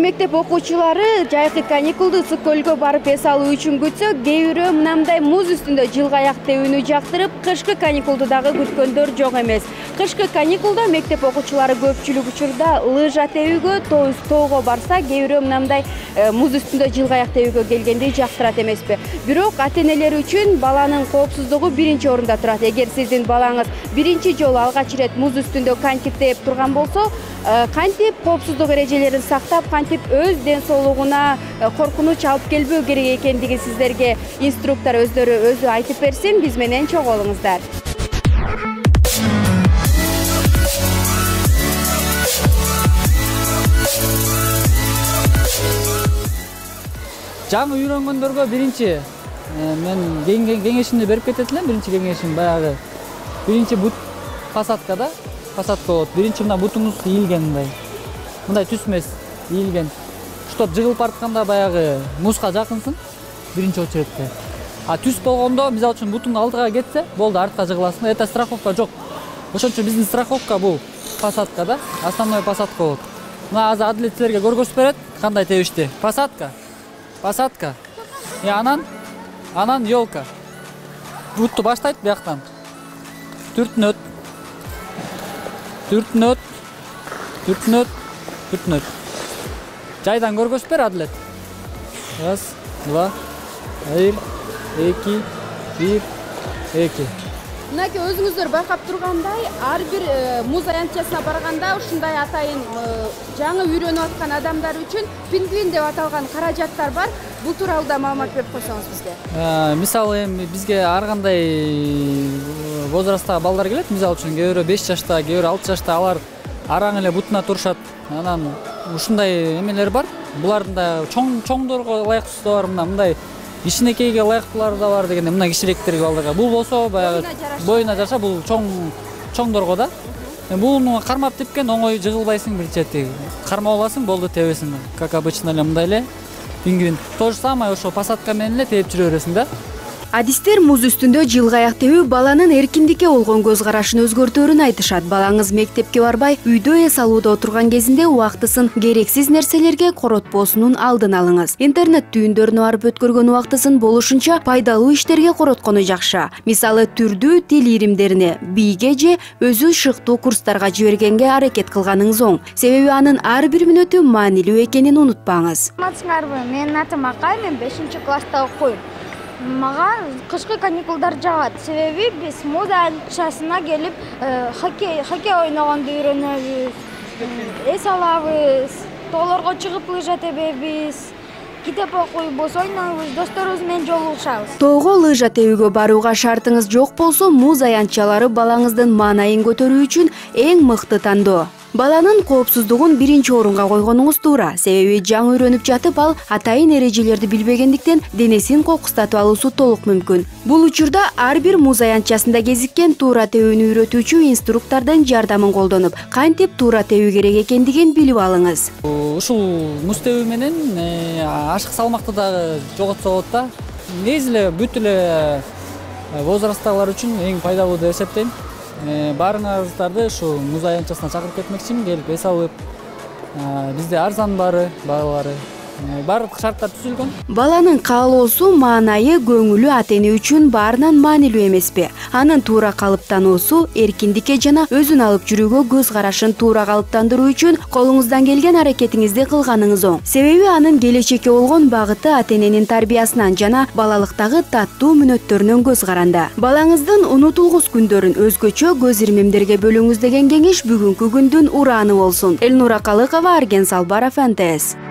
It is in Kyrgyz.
мектеп окуучулары жайкы каникулду ысык көлгө барып эс алуу үчүн күтсө, кээ бирөө мындай муз үстүндө жылгаяк тебүүнү жактырып, кышкы каникулду дагы күткөндөр жок эмес. Кышкы каникулда мектеп окуучулары көпчүлүк учурда лыжа тебүүгө, тоого барса, кээ бирөө мындай муз үстүндө жылгаяк тебүүгө келгенди жактырат эмеспи. Бирок ата-энелер үчүн баланын коопсуздугу биринчи орунда турат. Эгер сиздин балаңыз биринчи жолу алгач ирет муз үстүндө кантип тээп турган болсо, кантип коопсуздук эрежелерин сактап, кантип өз ден соолугуна коркунуч алып келбөө керек экендиги сиздерге инструктор өзү айтып берсин. Биз менен чогуу болуңуздар. Жаңы үйрөнгөндөргө биринчи мен кеңешимди берип кетет элем. Биринчи кеңешим баягы биринчи бут посадкада, посадка болот. Биринчи мына бутуңуз ийилген мындай түзмөс ийилген. Чтоб жыгылып баратканда баягы музга жакынсың биринчи очередте. Түз болгондо мисалы үчүн бутуң алдыга кетсе, болду, артка жыгыласың. Это страховка жок. Ошон үчүн биздин страховка бул посадкада, основной посадка болот. Мына азыр Адилет силерге көргөзүп берет кандай тебишти. Посадка. Анан ёлка. Бутту баштайт бияктан. Түртүнөт. Жайдан көргөзүп бер, Адилет. 1, 2, 1, 2, 2. Мынакей өзүңүздөр байкап тургандай, ар бир муз аянтчасына барганда ушундай атайын жаңы үйрөнүп аткан адамдар үчүн пингвин деп аталган каражаттар бар. Бул тууралуу да маалымат берип койсоңуз бизге. Мисалы бизге ар кандай возрасттагы балдар келет. Мисалы үчүн кээ бирөө 5 жашта, кээ бирөө 6 жашта, алар араң эле бутуна турушат. Анан ушундай эмелер бар. Булардын да чоңдорго ылайыктуусу бар, мындай кичинекейге ылайыктуулары да бар дегенде, мына кичирээктерге балдарга. Бул болсо баягы боюна жараша, бул чоңдорго да. Буну кармап тепкен оңой жыгылбайсың, бирчети кармап аласың, болду, тебесиң. Как обычно эле мындай эле пингвин. То же самое ошо посадка менен эле тееп жүрө бересиң да. Адистер муз үстүндө жылгаяк тебүү баланын эркиндикке болгон көз карашын өзгөртөөрүн айтышат. Балаңыз мектепке барбай, үйдө эс алууда отурган кезинде убактысын керексиз нерселерге коротпосунун алдын алыңыз. Интернет түйүндөрүнө барып өткөргөн убактысын болушунча пайдалуу иштерге короткону жакшы. Мисалы, түрдүү тил иримдерине, бийге же өзү шыктуу курстарга жибергенге аракет кылганыңыз оң. Себеби анын ар бир мүнөтү маанилүү экенин унутпаңыз. Менин атым Акай, мен 5-класста окуйм. Мага кышкы каникулдар жагат. Себеби биз муз аянтчасына келип хоккей ойногонду үйрөнөбүз, эс алабыз, тоолорго чыгып лыжа тебебиз, китеп окуйбуз, ойнойбуз, досторубуз менен жолугушабыз. Тоого лыжа тебүүгө барууга шартыңыз жок болсо, муз аянтчалары балаңыздын маанайын көтөрүү үчүн эң мыкты тандоо. Баланын коопсуздугун биринчи орунга койгонуңуз туура. Себеби жаңы үйрөнүп жатып, ал атайын эрежелерди билбегендиктен денесин кокустатып алуусу толук мүмкүн. Бул учурда ар бир муз аянтчасында кезиккен туура тебүүнү үйрөтүүчү инструктордун жардамын колдонуп, кантип туура тебүү керек экендигин билип алыңыз. Ушул муз тебүү менен ашык салмакты дагы жоготсо болот да. Негизи эле бүт эле возрасттагылар үчүн эң пайдалуу деп эсептейм. Баарыңыздарды ушу муз аянтчасына чакырып кетмекчимин, келип эс алып. Бизде арзан баары, баалары, баардык шарттар түзүлгөн. Баланын каалоосу, маанайы, көңүлү ата-эне үчүн баарынан маанилүү эмеспи? Анын туура калыптануусу, эркиндикке жана өзүн алып жүрүүгө көз карашын туура калыптандыруу үчүн колуңуздан келген аракетиңизди кылганыңыз оң. Себеби анын келечекке болгон багыты ата-эненин тарбиясынан жана балалыктагы таттуу мүнөттөрүнөн көз каранда. Балаңыздын унутулгус күндөрүн өзгөчө көз ирмемдерге бөлүңүз деген кеңеш бүгүнкү күндүн урааны болсун. Элнура Калыкова, Арген Салбаров, НТС.